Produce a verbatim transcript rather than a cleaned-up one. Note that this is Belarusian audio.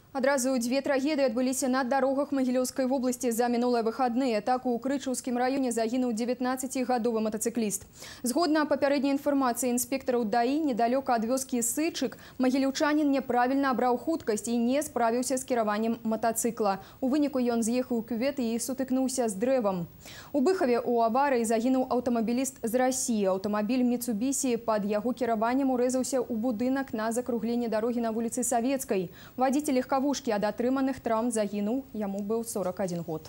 Адразу дзве трагедыі адбыліся на дарогах Магілёўскай вобласці за мінулыя выхадныя. Так у Крычаўскім раёне загінуў дзевятнаццацігадовы матацыкліст. Згодна папярэдняй інфармацыі інспектараў ДАІ, недалёка ад вёскі Сычык магілёўчанін няправільна абраў хуткасць і не справіўся з кіраваннем матацыкла. У выніку ён з'ехаў у кювет і сутыкнуўся з дрэвам. У Быхаве у аварыі загінуў аўтамабіліст з Расіі. Аўтамабіль Міцубісі пад яго кіраваннем урэзаўся ў будынак на закругленні дарогі на вуліцы Савецкай. Вадзіцель легкавушкі ад атрыманых траўм загінуў, яму быў сорок адзін год.